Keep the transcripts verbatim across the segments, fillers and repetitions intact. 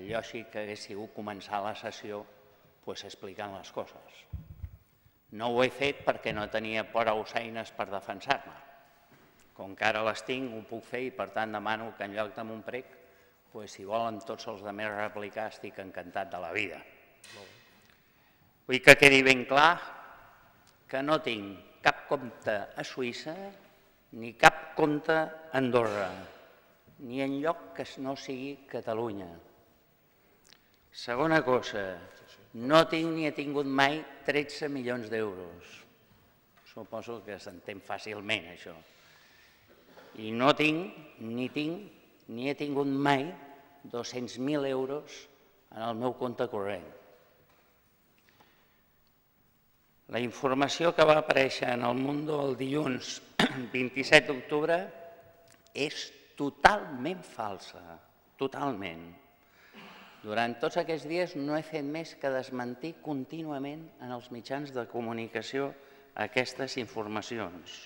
lògic que hagués sigut començar la sessió explicant les coses. No ho he fet perquè no tenia prou eines per defensar-me. Com que ara les tinc, ho puc fer i per tant demano que en lloc de Montprec, si volen tots els altres replicar, estic encantat de la vida. Vull que quedi ben clar que no tinc cap compte a Suïssa ni cap compte a Andorra, ni en lloc que no sigui Catalunya. Segona cosa, no tinc ni he tingut mai tretze milions d'euros. Suposo que s'entén fàcilment, això. I no tinc, ni tinc, ni he tingut mai dos-cents mil euros en el meu compte corrent. La informació que va aparèixer en el Mundo el dilluns vint-i-set d'octubre és totalment falsa, totalment. Durant tots aquests dies no he fet més que desmentir contínuament en els mitjans de comunicació aquestes informacions.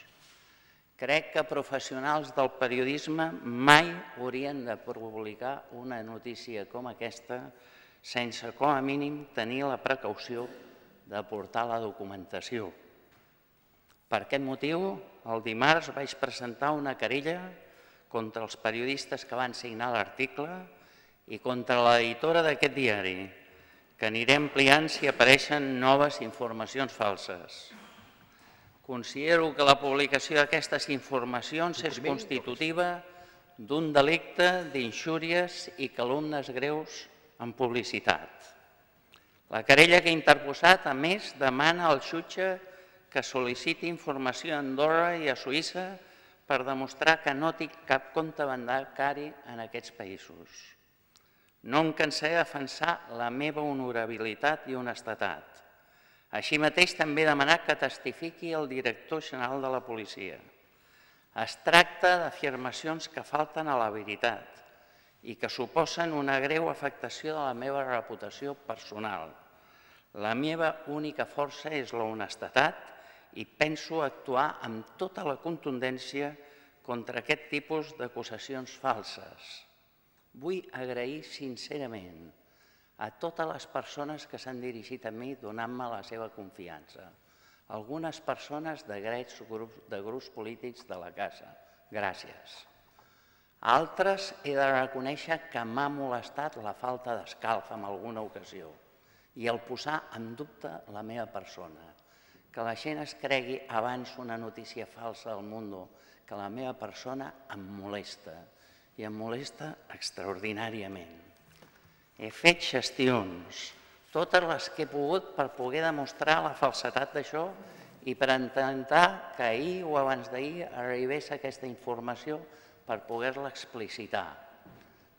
Crec que professionals del periodisme mai haurien de publicar una notícia com aquesta sense, com a mínim, tenir la precaució d'aportar la documentació. Per aquest motiu, el dimarts vaig presentar una querella contra els periodistes que van signar l'article i contra l'editora d'aquest diari, que aniré ampliant si apareixen noves informacions falses. Considero que la publicació d'aquestes informacions és constitutiva d'un delicte d'injúries i calúmnies greus en publicitat. La querella que he interposat, a més, demana al jutge que sol·liciti informació a Andorra i a Suïssa per demostrar que no tinc cap compte bancari en aquests països. No em cansaré de defensar la meva honorabilitat i honestedat. Així mateix també he demanat que testifiqui el director general de la policia. Es tracta d'afirmacions que falten a la veritat i que suposen una greu afectació de la meva reputació personal. La meva única força és la honestedat i penso actuar amb tota la contundència contra aquest tipus d'acusacions falses. Vull agrair sincerament a totes les persones que s'han dirigit a mi donant-me la seva confiança. Algunes persones de grups polítics de la casa. Gràcies. Altres he de reconèixer que m'ha molestat la falta d'escalf en alguna ocasió i el posar en dubte la meva persona. Que la gent es cregui abans una notícia falsa al Mundo que la meva persona em molesta i em molesta extraordinàriament. He fet gestions, totes les que he pogut per poder demostrar la falsedat d'això i per intentar que ahir o abans d'ahir arribés aquesta informació per poder-la explicitar.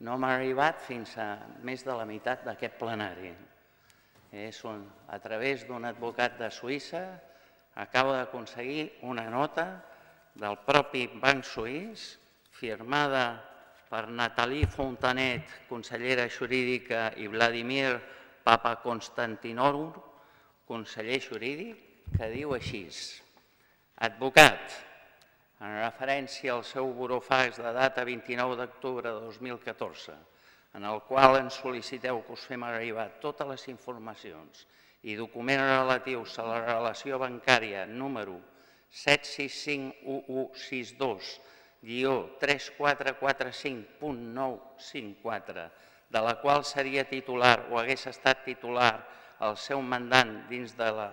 No m'ha arribat fins a més de la meitat d'aquest plenari. A través d'un advocat de Suïssa acabo d'aconseguir una nota del propi Banc Suís firmada per Nathalie Fontanet, consellera jurídica, i Vladimir Papakonstantinoru, conseller jurídic, que diu així: advocat, en referència al seu burofax de data vint-i-nou d'octubre de dos mil catorze, en el qual ens sol·liciteu que us fem arribar totes les informacions i documents relatius a la relació bancària número set sis cinc u u sis dos guió tres quatre quatre cinc punt nou cinc quatre, de la qual seria titular o hagués estat titular el seu mandant dins de la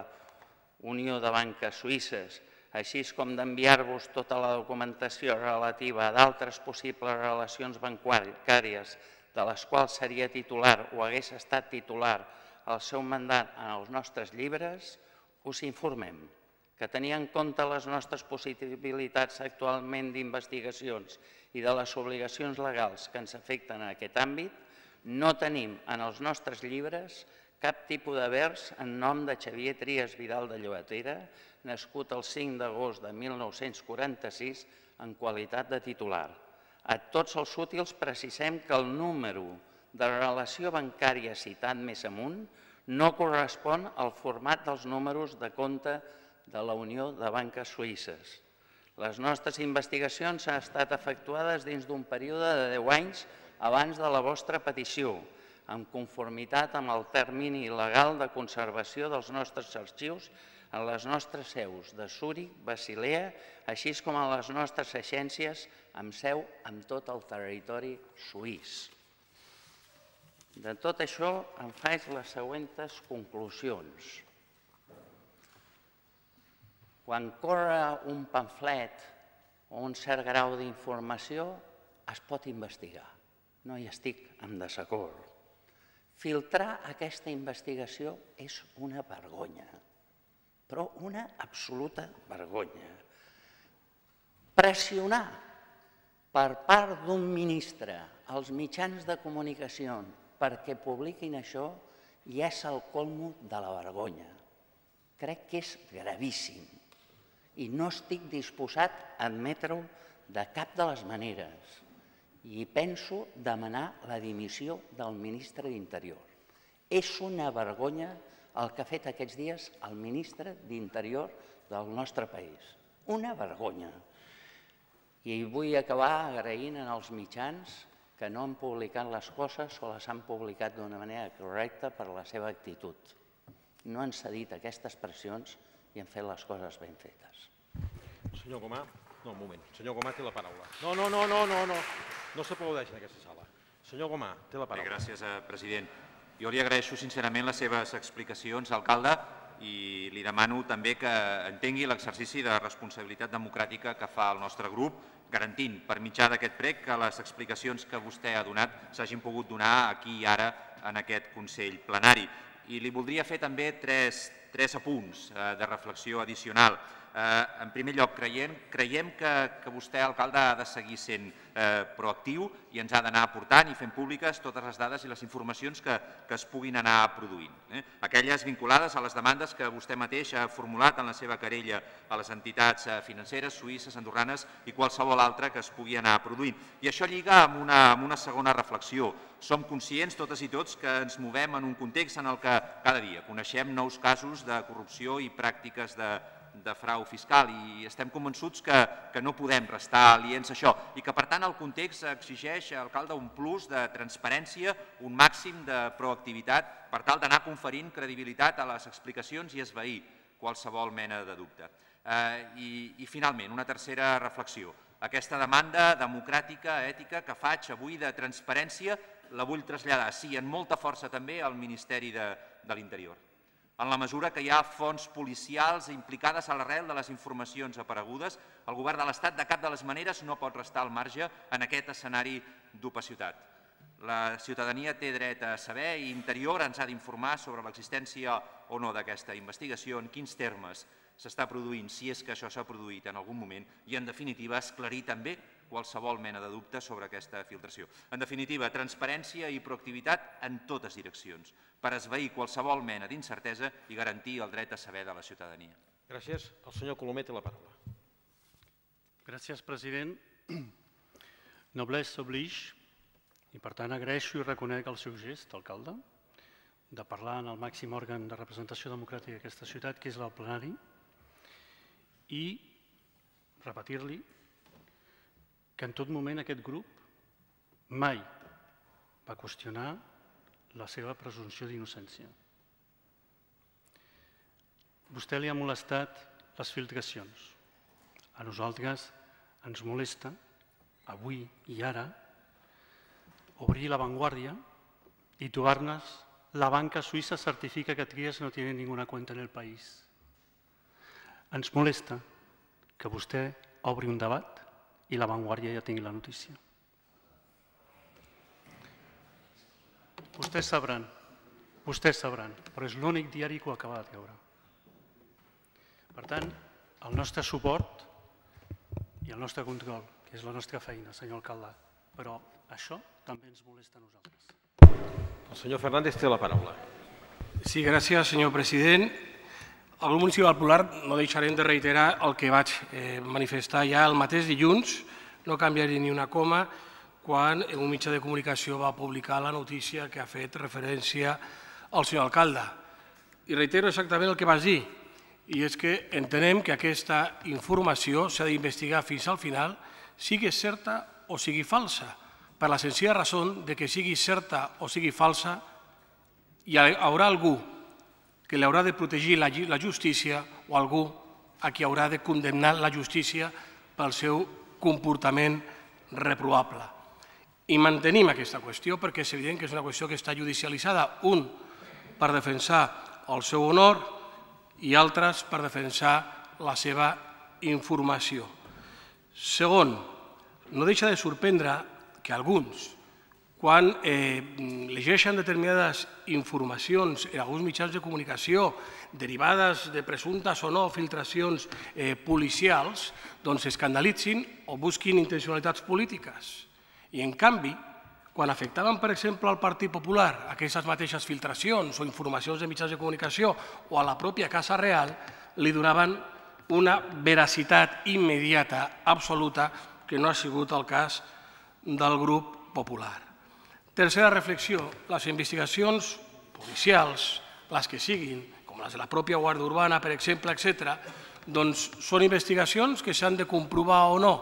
Unió de Banques Suïsses, així com d'enviar-vos tota la documentació relativa a d'altres possibles relacions bancàries de les quals seria titular o hagués estat titular el seu mandat en els nostres llibres, us informem que tenint en compte les nostres possibilitats actualment d'investigacions i de les obligacions legals que ens afecten en aquest àmbit, no tenim en els nostres llibres cap tipus de vers en nom de Xavier Trias Vidal de Llobatera, nascut el cinc d'agost de mil nou-cents quaranta-sis en qualitat de titular. A tots els útils precisem que el número de relació bancària citat més amunt no correspon al format dels números de compte de la Unió de Banques Suïsses. Les nostres investigacions han estat efectuades dins d'un període de deu anys abans de la vostra petició, en conformitat amb el termini legal de conservació dels nostres arxius en les nostres seus de Zúrich, Basilea, així com a les nostres agències amb seu en tot el territori suís. De tot això en faig les següents conclusions. Quan corre un pamflet o un cert grau d'informació, es pot investigar. No hi estic en desacord. Filtrar aquesta investigació és una vergonya, però una absoluta vergonya. Pressionar per part d'un ministre als mitjans de comunicació perquè publiquin això ja és el colmo de la vergonya. Crec que és gravíssim i no estic disposat a admetre-ho de cap de les maneres i penso demanar la dimissió del ministre d'Interior. És una vergonya el que ha fet aquests dies el ministre d'Interior del nostre país. Una vergonya. I vull acabar agraint als mitjans que no han publicat les coses o les han publicat d'una manera correcta per la seva actitud. No han cedit aquestes pressions i han fet les coses ben fetes. Senyor Gomà, no, un moment. Senyor Gomà té la paraula. No, no, no, no, no, no. No s'aplaudeix en aquesta sala. Senyor Gomà, té la paraula. Bé, gràcies, president. Jo li agraeixo sincerament les seves explicacions, alcalde, i li demano també que entengui l'exercici de responsabilitat democràtica que fa el nostre grup, garantint per mitjà d'aquest prec que les explicacions que vostè ha donat s'hagin pogut donar aquí i ara en aquest Consell Plenari. I li voldria fer també tres, tres apunts de reflexió addicional. En primer lloc, creiem, creiem que, que vostè, alcalde, ha de seguir sent eh, proactiu i ens ha d'anar aportant i fent públiques totes les dades i les informacions que, que es puguin anar produint. Eh? Aquelles vinculades a les demandes que vostè mateix ha formulat en la seva querella a les entitats financeres, suïsses, andorranes i qualsevol altra que es pugui anar produint. I això lliga amb una, amb una segona reflexió. Som conscients, totes i tots, que ens movem en un context en el que cada dia coneixem nous casos de corrupció i pràctiques de de frau fiscal i estem convençuts que, que no podem restar aliens a això i que, per tant, el context exigeix, alcalde, un plus de transparència, un màxim de proactivitat per tal d'anar conferint credibilitat a les explicacions i esvair qualsevol mena de dubte. Eh, i, I, finalment, una tercera reflexió. Aquesta demanda democràtica, ètica, que faig avui de transparència, la vull traslladar, sí, amb molta força també al Ministeri de, de l'Interior. En la mesura que hi ha fonts policials implicades a l'arrel de les informacions aparegudes, el govern de l'Estat de cap de les maneres no pot restar al marge en aquest escenari d'opacitat. La ciutadania té dret a saber i Interior ens ha d'informar sobre l'existència o no d'aquesta investigació, en quins termes s'està produint, si és que això s'ha produït en algun moment, i en definitiva esclarir també qualsevol mena de dubte sobre aquesta filtració. En definitiva, transparència i proactivitat en totes direccions, per esvair qualsevol mena d'incertesa i garantir el dret a saber de la ciutadania. Gràcies. El senyor Colomer té la paraula. Gràcies, president. Noblesse oblige, i per tant agraeixo i reconec el seu gest, alcalde, de parlar en el màxim òrgan de representació democràtica d'aquesta ciutat, que és el plenari, i repetir-li que en tot moment aquest grup mai va qüestionar la seva presumpció d'innocència. Vostè li ha molestat les filtracions. A nosaltres ens molesta, avui i ara, obrir la vanguardia y trobar-nos la banca suïssa certifica que Trias no tiene ninguna cuenta en el país. Ens molesta que vostè obri un debat i la Vanguardia ja tingui la notícia. Vostès sabran, vostès sabran, però és l'únic diari que ho acaba de treure. Per tant, el nostre suport i el nostre control, que és la nostra feina, senyor alcalde, però això també ens molesta a nosaltres. El senyor Fernández té la paraula. Sí, gràcies, senyor president. Al grup municipal popular no deixarem de reiterar el que vaig manifestar ja el mateix dilluns, no canviaré ni una coma, quan un mitjà de comunicació va publicar la notícia que ha fet referència al senyor alcalde. I reitero exactament el que vas dir, i és que entenem que aquesta informació s'ha d'investigar fins al final, sigui certa o sigui falsa, per la senzilla raó de que sigui certa o sigui falsa, hi haurà algú que l'haurà de protegir la justícia o algú a qui haurà de condemnar la justícia pel seu comportament reprovable. I mantenim aquesta qüestió perquè és evident que és una qüestió que està judicialitzada, un per defensar el seu honor i altres per defensar la seva informació. Segon, no deixa de sorprendre que alguns, quan llegeixen determinades informacions en alguns mitjans de comunicació derivades de presumptes o no filtracions policials, doncs s'escandalitzin o busquin intencionalitats polítiques. I, en canvi, quan afectaven, per exemple, al Partit Popular, aquestes mateixes filtracions o informacions de mitjans de comunicació o a la pròpia Casa Real, li donaven una veracitat immediata, absoluta, que no ha sigut el cas del grup popular. Tercera reflexió, les investigacions policials, les que siguin, com les de la pròpia Guàrdia Urbana, per exemple, etcètera, doncs són investigacions que s'han de comprovar o no.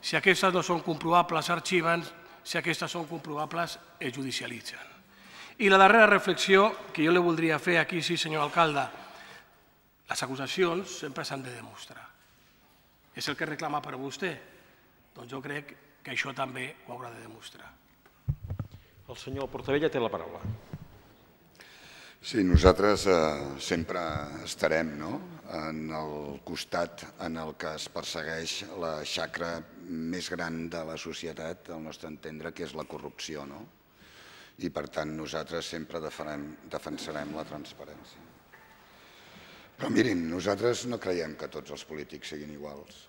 Si aquestes no són comprovables, s'arxiven, si aquestes són comprovables, es judicialitzen. I la darrera reflexió que jo li voldria fer aquí, sí, senyor alcalde, les acusacions sempre s'han de demostrar. És el que reclama per vostè? Doncs jo crec que això també ho haurà de demostrar. El senyor Portabella té la paraula. Sí, nosaltres sempre estarem en el costat en el que es persegueix la xacra més gran de la societat, al nostre entendre, que és la corrupció. I, per tant, nosaltres sempre defensarem la transparència. Però mirin, nosaltres no creiem que tots els polítics siguin iguals.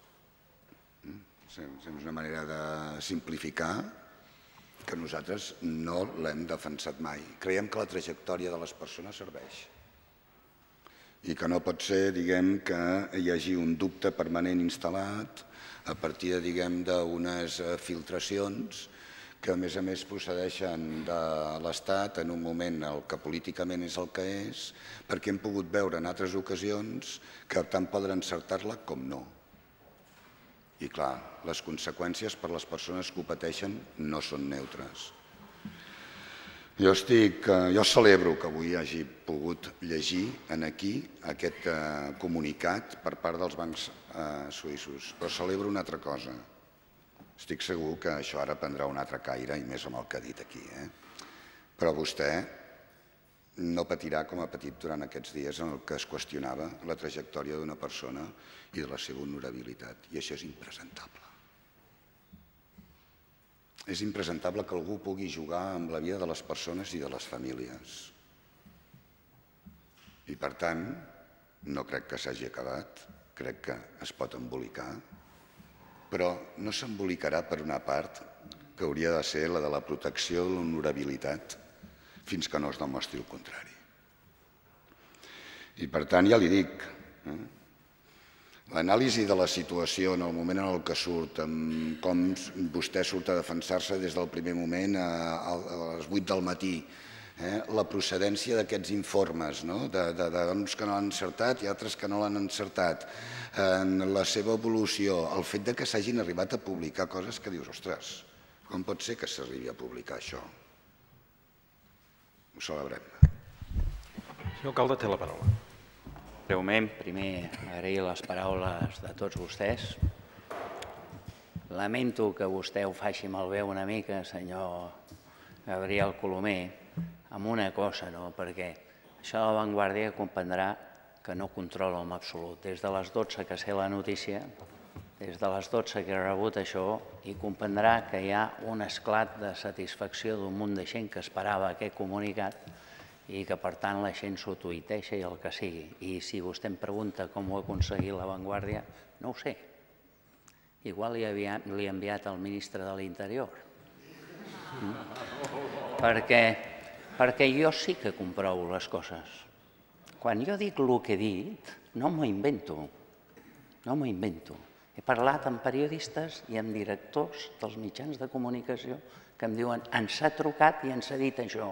És una manera de simplificar que nosaltres no l'hem defensat mai. Creiem que la trajectòria de les persones serveix i que no pot ser, diguem, que hi hagi un dubte permanent instal·lat a partir, diguem, d'unes filtracions que, a més a més, procedeixen de l'Estat en un moment en què políticament és el que és, perquè hem pogut veure en altres ocasions que tant poden encertar-la com no. I, clar, les conseqüències per a les persones que ho pateixen no són neutres. Jo estic, jo celebro que avui hagi pogut llegir aquí aquest comunicat per part dels bancs suïssos, però celebro una altra cosa. Estic segur que això ara prendrà un altre caire, i més amb el que ha dit aquí. Però vostè no patirà com ha patit durant aquests dies en què es qüestionava la trajectòria d'una persona i de la seva honorabilitat. I això és impresentable. És impresentable que algú pugui jugar amb la vida de les persones i de les famílies. I, per tant, no crec que s'hagi acabat, crec que es pot embolicar, però no s'embolicarà per una part que hauria de ser la de la protecció de l'honorabilitat fins que no es demostri el contrari. I, per tant, ja li dic, l'anàlisi de la situació en el moment en què surt, com vostè surt a defensar-se des del primer moment a les vuit del matí, la procedència d'aquests informes, d'uns que no l'han encertat i altres que no l'han encertat, la seva evolució, el fet que s'hagin arribat a publicar coses que dius, ostres, com pot ser que s'arribi a publicar això? Ho celebrem. Senyor alcalde, té la paraula. Breument, primer agrair les paraules de tots vostès. Lamento que vostè ho faci malbé una mica, senyor Gabriel Colomer, amb una cosa, perquè això de la Vanguardia comprendrà que no controla en absolut. Des de les dotze que sé la notícia, des de les dotze que he rebut això, i comprendrà que hi ha un esclat de satisfacció d'un munt de gent que esperava aquest comunicat i que, per tant, la gent s'ho tuiteja i el que sigui. I si vostè em pregunta com ho ha aconseguit la Vanguardia, no ho sé. Igual li ha enviat al ministre de l'Interior. Perquè jo sí que comprovo les coses. Quan jo dic el que he dit, no m'ho invento. No m'ho invento. He parlat amb periodistes i amb directors dels mitjans de comunicació que em diuen ens ha trucat i ens ha dit això.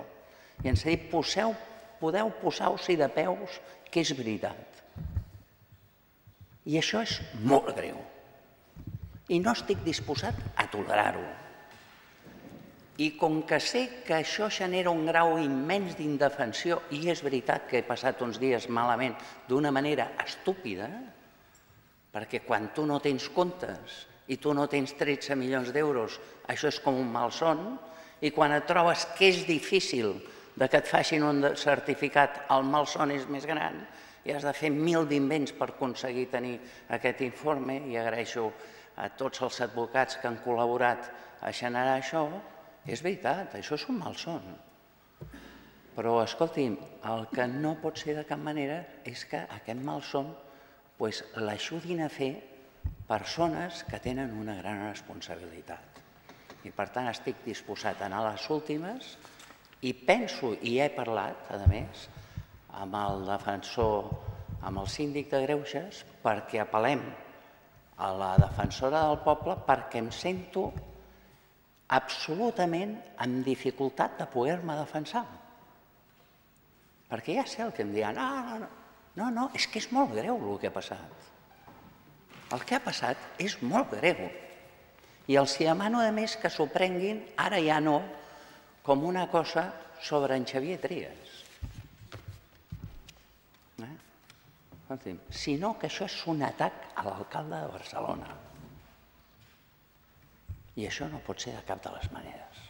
I ens ha dit, podeu posar-vos-hi de peus, que és veritat. I això és molt greu. I no estic disposat a tolerar-ho. I com que sé que això genera un grau immens d'indefensió, i és veritat que he passat uns dies malament d'una manera estúpida, perquè quan tu no tens comptes i tu no tens tretze milions d'euros, això és com un malson, i quan et trobes que és difícil de que et facin un certificat, el malson és més gran, i has de fer mil d'invents per aconseguir tenir aquest informe, i agraeixo a tots els advocats que han col·laborat a generar això. És veritat, això és un malson. Però, escolti'm, el que no pot ser de cap manera és que aquest malson l'ajudin a fer persones que tenen una gran responsabilitat. I, per tant, estic disposat a anar a les últimes i penso, i he parlat, a més, amb el defensor, amb el síndic de Greuges, perquè apel·lem a la defensora del poble, perquè em sento absolutament amb dificultat de poder-me defensar. Perquè ja sé el que em diran, no, no, no, no, és que és molt greu el que ha passat. El que ha passat és molt greu. I els demano, a més, que s'ho prenguin, ara ja no, com una cosa sobre en Xavier Trias. Sinó que això és un atac a l'alcalde de Barcelona. I això no pot ser de cap de les maneres.